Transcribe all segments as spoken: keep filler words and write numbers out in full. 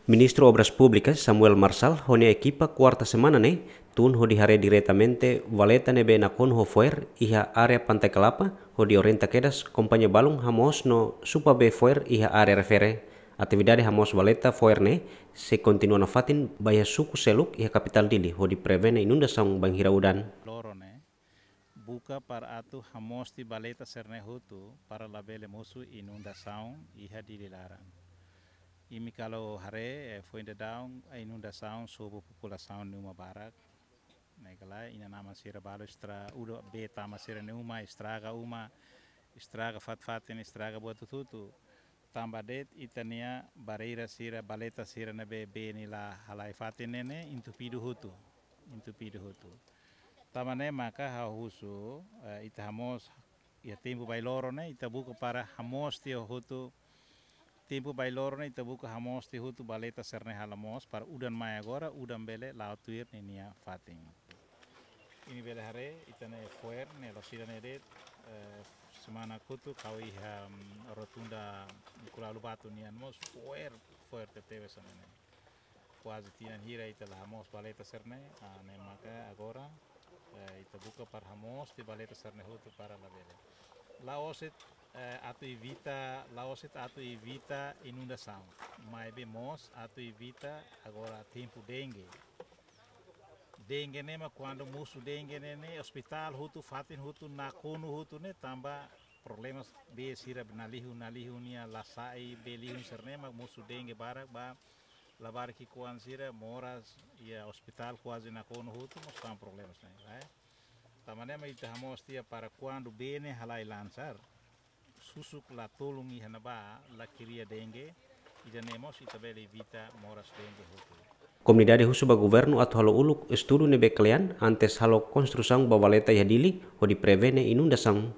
Ministru Obras Públikas Samuel Marçal ho nia ekipa kuarta semana ne'e tun hodi haree diretamente valeta ne'ebé nakonu ho fo'er iha área Pantai Kelapa, hodi orienta kedas kompañia balun hamoos no supa bee fo'er iha área refere. Atividade hamoos valeta fo'er ne'e sei kontinua nafatin ba iha suku seluk iha kapitál Dili hodi prevene inundasaun bainhira udan. Loron ne'e buka para atu hamoos tiha valeta sira-ne'e hotu para labele mosu inundasaun iha Dili laran. Imi kalau haree, eh, foin daudaun, eh, inundasaun sobu populasaun nia uma barak. Ne'e kala inan-aman sira balu estra-, udan bee tama sira-nia uma, estraga uma, estraga fatin-fatin, estraga buat hotu-hotu. Tanba de'it ita-nia barreira sira, valeta sira ne'ebé bee ne'e la halai fatin ne'e, ne'e entupidu hotu, entupidu hotu. Tanba ne'e maka ha'u husu, eh, ita hamoos iha tempu bailoron ne'e, ita buka para hamoos tiha hotu, tempu bailoron ne'e, ita buka hamoos tiha hotu valeta sira-ne'e halo moos, para udan mai agora, udan bele la'o tuir ninia fatin. Imi bele haree, ita-nia fo'er ne'e, loos ida-ne'e de'it, eh, semana kotuk ha'u iha, mm, rotunda Kulalu Batu nian mós fo'er, fo'er tebetebes hanesan ne'e. Kuaze tinan hira ita la hamoos valeta sira-ne'e, ah, ne'e maka agora, eh, ita buka para hamoos tiha valeta sira-ne'e hotu para labele. La'ós de'it, eh, atu evita, la'ós de'it atu evita inundasaun. Maibé mós atu evita agora tempu dengue. Dengue ne'e mak kuandu mosu dengue ne'e, ne'e ospitál hotu, fatin hotu, nakonu hotu ne'e, tanba problema bee sira nalihun, nalihun nia la sai, bee lihun sira-ne'e mak mosu dengue barak ba labarik ki'ikoan sira, moras iha ospitál kuaze nakonu hotu, mós tanba problema sira-ne'e, eh. Tanba ne'e mak ita hamoos tiha para kuandu bee ne'e halai lansar, susuk la tulun iha ne'ebá, la kria dengue, ida-ne'e mós ita bele evita moras dengue hotu. Komunidade husu ba governu atu halo uluk estudu ne'ebé kle'an antes halo konstrusaun ba valeta iha Dili, hodi prevene inundasaun.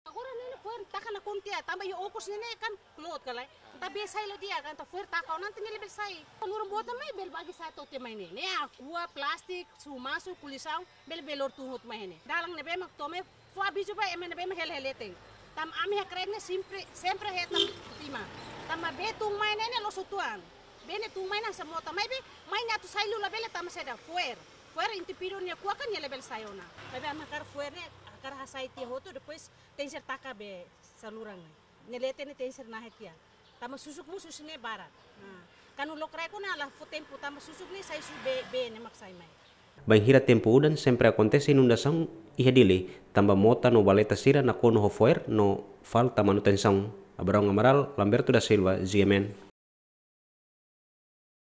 Agora ne'e fo'er taka nakonu tiha, tanba iha okos ne'e, ne'e kan klot ka lae. Entaun bee sai la di'ak, entaun fo'er taka ona entaun ne'e labele sai. Saluran boot mai bele bagi sai to'o tiha mai ne'e. Ne'e akua, plástiku, sumasu, kulisaun, bele bele lori tun hotu mai ne'e. Dalan ne'ebé mak to'o mai fó avizu ba ema ne'ebé mak hela iha leten. Tanba ami iha Krek ne'e sempre, sempre hetan vítima. Tanba bee tun mai ne'e, ne'e loos uitoan. Bee ne'e tun mai ne'e hanesan mota. Maibé mai ne'e atu sai liu labele tanba saida, fo'er. Fo'er entupidu nia kuak kan nia labele sai ona. Maibé ami hakarak fo'er ne'e, hakarak hasai tiha hotu, depois tenke ser taka bee saluran ne'e. Nia leten ne'e tenke ser nahe tiha. Tanba susuk mós husi ne'e barak. Nah, kuandu lokraik ona la fó tempu tanba susuk ne'e sai husi bee, bee ne'e mak sai mai. Bainhira tempu udan sempre akontese inundasaun iha Dili, tanba mota no valeta sira nakonu ho fo'er no falta manutensaun. Abraão Amaral, Lamberto da Silva, G M N.